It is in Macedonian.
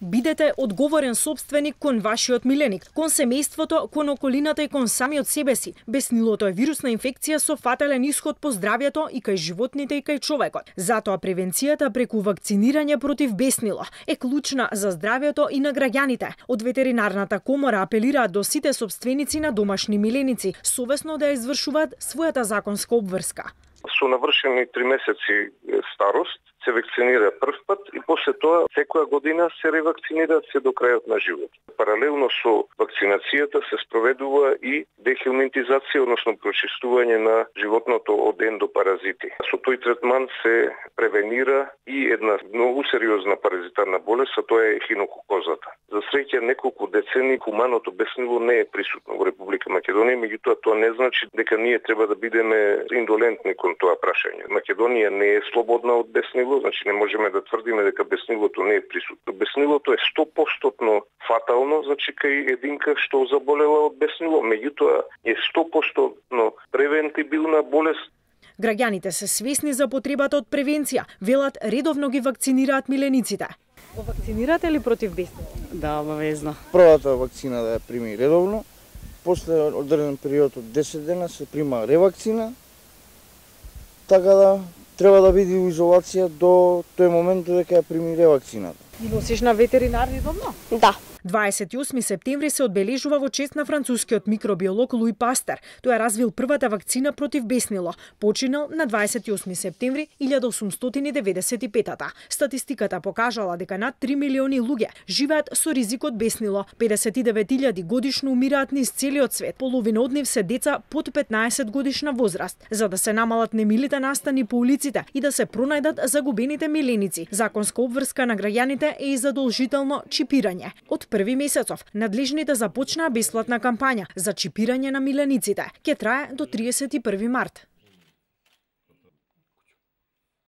Бидете одговорен собственик кон вашиот миленик, кон семејството, кон околината и кон самиот себе си. Беснилото е вирусна инфекција со фатален исход по здравјето и кај животните и кај човекот. Затоа превенцијата преку вакцинирање против беснило е клучна за здравјето и на граѓаните. Од ветеринарната комора апелираат до сите собственици на домашни миленици совесно да ја извршуваат својата законска обврска. Со навршени 3 месеци старост се вакцинира прв пат и после тоа секоја година се ревакцинира се до крајот на живот. Паралелно со вакцинацијата се спроведува и дехелминтизација, односно прочистување на животното од ендопаразити. Со тој третман се превенира и една многу сериозна паразитарна болест, а тоа е ехинококозата. За среќа неколку децени хуманото беснило не е присутно во Република Македонија, меѓутоа тоа не значи дека ние треба да бидеме индолентни кон тоа прашање. Македонија не е слободна од беснило, значи не можеме да тврдиме дека беснилото не е присутно. Беснилото е 100% фатално, значи кај единка што заболела од беснило, меѓутоа е 100% превентибилна болест. Граѓаните се свесни за потребата од превенција, велат редовно ги вакцинираат милениците. Го вакцинирате ли против беснило? Да, обавезно. Првата вакцина да ја прими редовно, после одреден период од 10 дена се прима ревакцина, така да треба да биде во изолација до тој момент додека ја прими ревакцината. И носиш на ветеринар редовно? Да. 28 септември се одбележува во чест на францускиот микробиолог Луи Пастер. Тој развил првата вакцина против беснило. Починал на 28 септември 1895. Статистиката покажала дека над 3 милиони луѓе живеат со ризик од беснило. 59.000 годишно умираат низ целиот свет. Половина од нив се деца под 15 годишна возраст. За да се намалат немилите настани по улиците и да се пронајдат загубените миленици, законска обврска на граѓаните е и задолжително чипирање. Од први месецов надлежните започнаа бесплатна кампања за чипирање на милениците. Ке трае до 31 март.